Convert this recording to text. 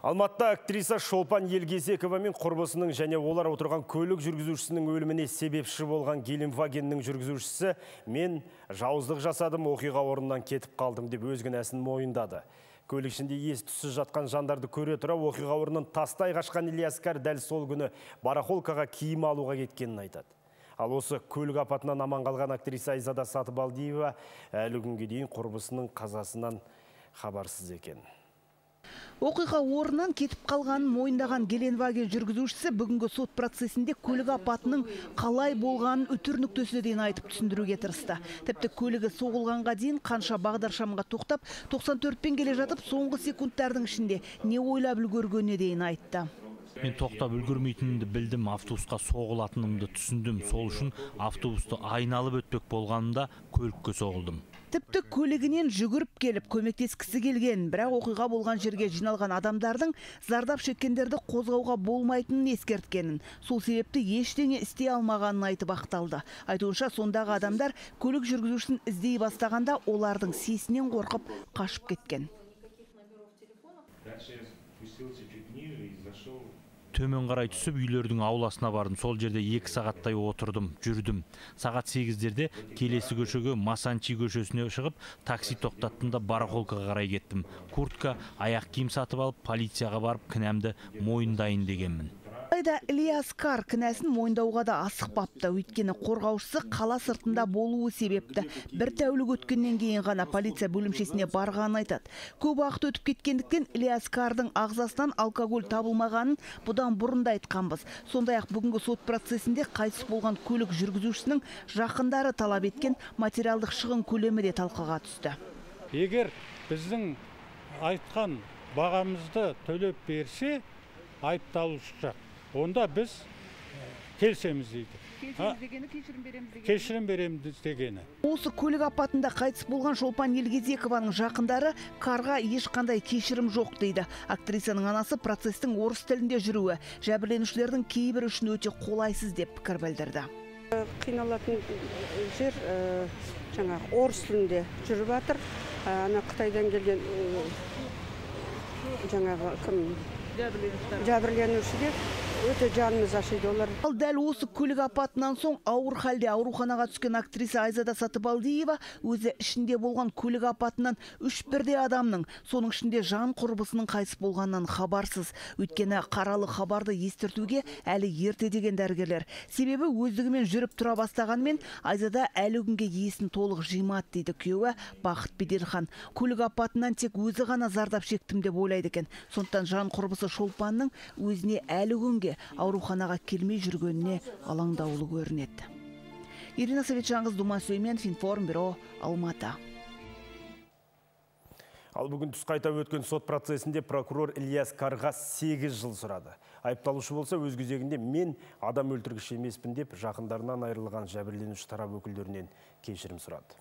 Алматыда актриса Шолпан Елгезекова мен құрбысының және олар отырған көлік жүргізушісінің өліміне себепші болған Гелендвагеннің жүргізушісі "Мен жауыздық жасадым, оқиға орнынан кетіп қалдым" деп өз кінәсін мойындады. Көлік ішінде ес-түссіз жатқан жандарды көре тұра оқиға орнынан тастай қашқан Ильяскар дәл сол күні барахолкаға киім алуға кеткенін айтады. Ал осы көлік апатынан аман қалған актриса Айзада Сатыбалдиева әлі күнге дейін құрбысының қазасынан хабарсыз екен. Оқиға орнынан кетіп қалғанын мойындаған Гелендваген жүргізушісі бүгінгі сот процесінде көлік апатының қалай болғанын үтір нүктесіне дейін айтып түсіндіруге тырысты. Тіпті көлігі соғылғанға дейін қанша бағдаршамға тоқтап, 94-пен келе жатып, соңғы секундтардың ішінде не ойлап үлгергеніне дейін айтты. Мен тоқтап үлгермейтінімді білдім, автобусқа соғылатынымды түсіндім. Сол үшін автобусты айналып өтпек болғанымда көлікке соғылдым. Тіпті көлігінен жүгіріп келіп, көмектескісі келген, бірақ оқиға болған жерге жиналған адамдардың зардап шеккендерді қозғауға болмайтынын ескерткенін, сол себепті ештеңе істей алмағанын айтып ақталды. Айтуынша, сондағы адамдар көлік жүргізушісін іздей бастағанда олардың сесінен қорқып қашып кеткен. Төмен қарай түсіп, үйлердің ауласына бардым. Сол жерде 2 сағаттай отырдым, жүрдім. Сағат 8-дерде келесі көшеге Масанчи көшесіне шығып, такси тоқтаттым да барахолкаға қарай кеттім. Куртка, аяқ киім сатып алып, полицияға барып, кінәмді мойындайын дегенмін. Алайда Ильяскар кінәсін мойындауға да асықпапты. Өйткені қорғаушысы қала сыртында болуы себепті. Бір тәулік өткеннен кейін ғана полиция бөлімшесіне барғанын айтады. Көп уақыт өтіп кеткендіктен Ильяскардың ағзасынан алкоголь табылмағанын бұдан бұрында айтқанбыз. Сондай-ақ бүгінгі сот процесінде қайтыс болған көлік жүргізушісінің жақындары талап еткен материалдық шығын көлемі де талқыға түсті. Егер біздің айтқан бағамызды төлеп берсе, айыпталушы жақ, онда біз келісеміз дейді. Кешірім береміз дегені. Осы көлік апатында қайтыс болған Шолпан Елгезекованың жақындары қарға ешқандай кешірім жоқ дейді. Актрисаның анасы процестің орыс тілінде жүруі жәбірленушілердің кейбір үшін өте қолайсыз деп пікір білдірді. Қиналатын жер жаңағы орыс тілінде жүріп жатыр. Ана Қытайдан келген жаңағы кім жәбірленуші өте жанымыз ашиды олар. Ал дәл осы көлік апатынан соң ауыр халде ауруханаға түскен актриса Айзада Сатыбалдиева өзі ішінде болған көлік апатынан 3 бірдей адамның, соның ішінде жан құрбысының қайтыс болғанынан хабарсыз. Өйткені қаралы хабарды естіртуге әлі ерте деген дәрігерлер. Себебі өздігімен жүріп тұра бастағанмен Айзада әлі күнге есін толық жимады дейді күйеуі Бақыт Беделхан. Көлік апатынан тек өзі ғана зардап шектім деп ойлайды екен. Сондықтан жан құрбысы Шолпанның өзіне әлі күнге ауруханаға келмей жүргеніне алаңдаулы көрінеді. Ирина Советжаңыз, Думан Сүлейменов, Информбюро, Алматы. Ал бүгін түс қайта өткен сот процесінде прокурор Ильяскарға 8 жыл сұрады. Айыпталушы болса өз кезегінде "Мен адам өлтіргіш емеспін" деп жақындарынан айырылған жәбірленуші тарап өкілдерінен кешірім сұрады.